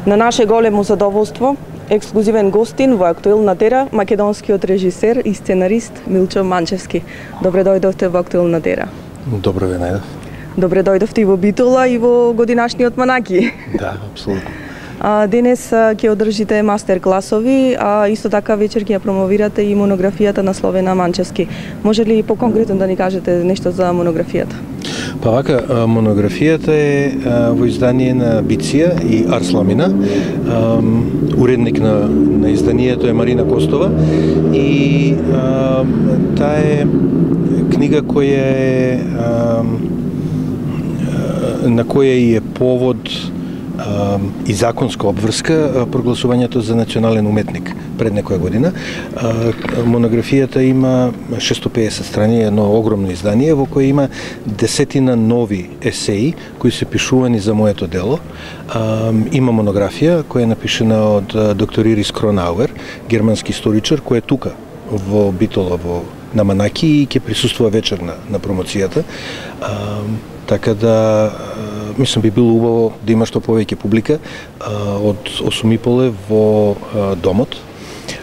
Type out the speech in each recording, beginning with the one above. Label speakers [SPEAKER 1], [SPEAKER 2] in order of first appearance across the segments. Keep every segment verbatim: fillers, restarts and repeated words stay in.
[SPEAKER 1] На наше големо задоволство, ексклузивен гостин во Актуелна тера, македонскиот режисер и сценарист Милчо Манчевски. Добре дојдовте во Актуелна тера.
[SPEAKER 2] Добро ве најдов.
[SPEAKER 1] Добре дојдовте и во Битола и во годинашниот Манаки.
[SPEAKER 2] Да, апсолутно.
[SPEAKER 1] А, денес ќе одржите мастер класови, а исто така вечер ќе ја промовирате и монографијата на Словена Манчевски. Може ли поконкретно да ни кажете нешто за монографијата?
[SPEAKER 2] Па вака, монографијата е во издание на Биция и Арсламина. Уредник на, на изданието е Марина Костова и таа е книга која е на која и е повод и законска обврска прогласувањето за национален уметник пред некоја година. Монографијата има шестоста и педесет страни, едно огромно издание во кое има десетина нови есеи кои се пишувани за моето дело. Има монографија која е напишена од доктор Ирис Кронауер, германски историчар, кој е тука во Битола во на Манаки и ќе присуствува вечер на, на промоцијата. Така да, мислам, би било убаво да има што повеќе публика а, од осум и пол во а, домот.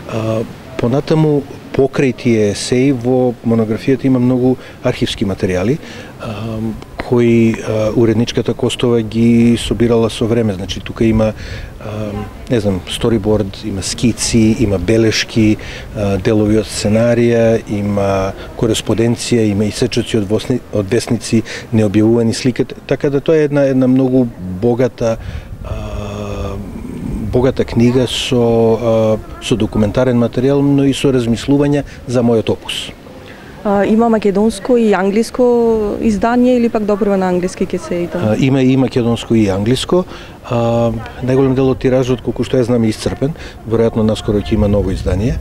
[SPEAKER 2] А, понатаму, покрај тие есеи, во монографијата има многу архивски материјали, а, кои а, уредничката Костова ги собирала со време. Значи, тука има, а, не знам, сториборд, има скици, има белешки, а, делови од сценарија, има кореспонденција, има и сечоци од, восни, од весници, необјавувани слики. Така да тоа е една, една многу богата а, богата книга со, а, со документарен материјал, но и со размислувања за мојот опус.
[SPEAKER 1] А, има македонско и англиско издание или пак допрва на англиски ќе се и тоа?
[SPEAKER 2] Има и македонско и англиско. А, најголем дел од тиражот, колку што ја знам, е исцрпен. Веројатно наскоро ќе има ново издание.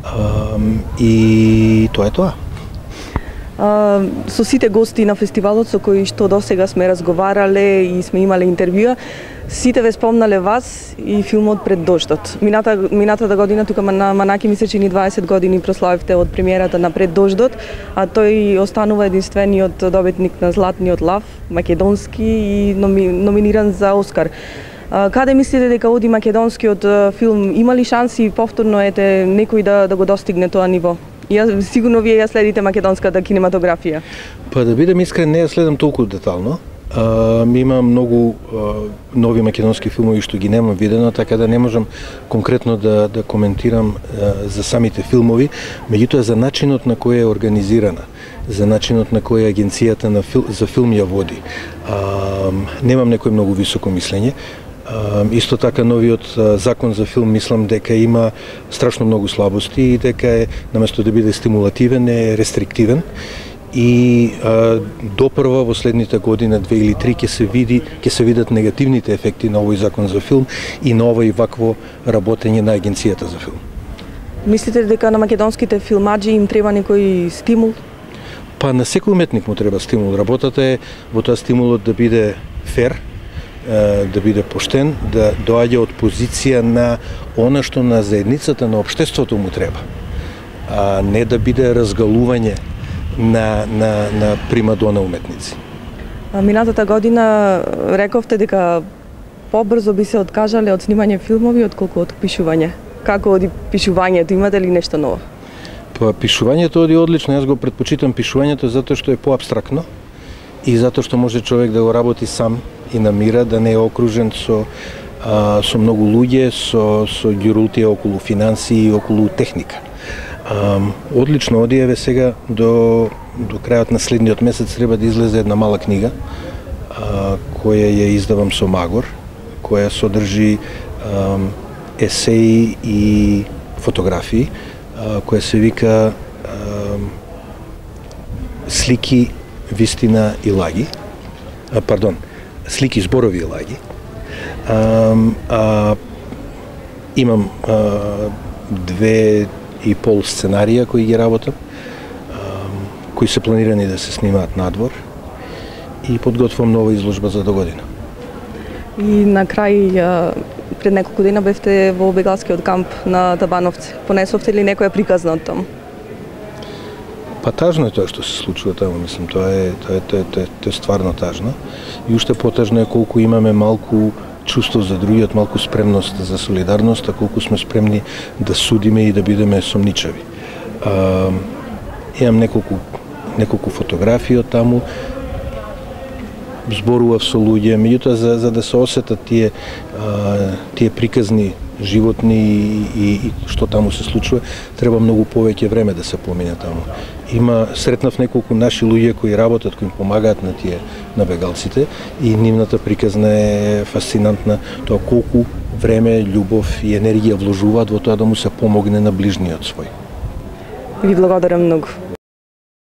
[SPEAKER 2] А, и тоа е тоа.
[SPEAKER 1] А, со сите гости на фестивалот со кои што досега сме разговарале и сме имале интервјуа, сите ве спомнале вас и филмот Пред дождот. Мината, минатата година тука на Манаки ми се чини дваесет години прославивте од премиерата на Пред дождот, а тој останува единствениот добитник на Златниот лав, македонски и номи, номиниран за Оскар. А, каде мислите дека оди македонскиот филм? Има ли шанси повторно ете некој да, да го достигне тоа ниво? Ја, сигурно вие ја следите македонската кинематографија.
[SPEAKER 2] Па да бидам искрен, не ја следам толку детално. Uh, има многу uh, нови македонски филмови што ги немам видено, така да не можам конкретно да, да коментирам uh, за самите филмови, меѓутоа за начинот на кој е организирана, за начинот на кој агенцијата на фил, за филм ја води. Uh, немам некој многу високо мислење. Uh, исто така новиот uh, закон за филм мислам дека има страшно многу слабости и дека е наместо да биде стимулативен е рестриктивен. И а, допрва во следните година, две или три, ќе се види, ќе се видат негативните ефекти на овој закон за филм и на овој вакво работење на агенцијата за филм.
[SPEAKER 1] Мислите дека на македонските филмаџи им треба некој стимул?
[SPEAKER 2] Па на секој уметник му треба стимул. Работата е во тоа стимулот да биде фер, да биде поштен, да доаѓа од позиција на она што на заедницата, на општеството му треба, а не да биде разгалување на, на, на примадона уметници.
[SPEAKER 1] Минатата година рековте дека побрзо би се откажале од снимање филмови отколку од пишување. Како оди пишувањето? Имате ли нешто ново?
[SPEAKER 2] Па пишувањето оди одлично. Јас го претпочитам пишувањето затоа што е поабстрактно и затоа што може човек да го работи сам и на мира, да не е окружен со а, со многу луѓе, со со ѓурултија околу финансии и околу техника. Um, одлично оди, еве сега до, до крајот на следниот месец треба да излезе една мала книга uh, која ја издавам со Магор, која содржи um, есеи и фотографии, uh, која се вика um, Слики, вистина и лаги. Uh, пардон, Слики, зборови и лаги. Um, uh, имам uh, две и пол сценарија кои ги работам, кои се планирани да се снимаат надвор и подготвувам нова изложба за до година.
[SPEAKER 1] И на крај, пред неколку дена бевте во бегалскиот камп на Табановци. Понесовте ли некоја приказна од таму?
[SPEAKER 2] Па тажно е тоа што се случува таму, мислам, тоа е тоа е тоа е, тоа е, тоа е стварно тажно. И уште потажно е колку имаме малку чувство за другиот, малку спремност за солидарност, а колку сме спремни да судиме и да бидеме сомничави. А, имам неколку неколку фотографии од таму, зборував со луѓе, меѓутоа за, за да се осетат тие а, тие приказни животни и, и, и што таму се случува, треба многу повеќе време да се помине таму. Има сретнав неколку наши луѓе кои работат, кои им помагаат на тие на бегалците и нивната приказна е фасцинантна, тоа колку време, љубов и енергија вложуваат во тоа да му се помогне на ближниот свој.
[SPEAKER 1] Ви благодарам многу.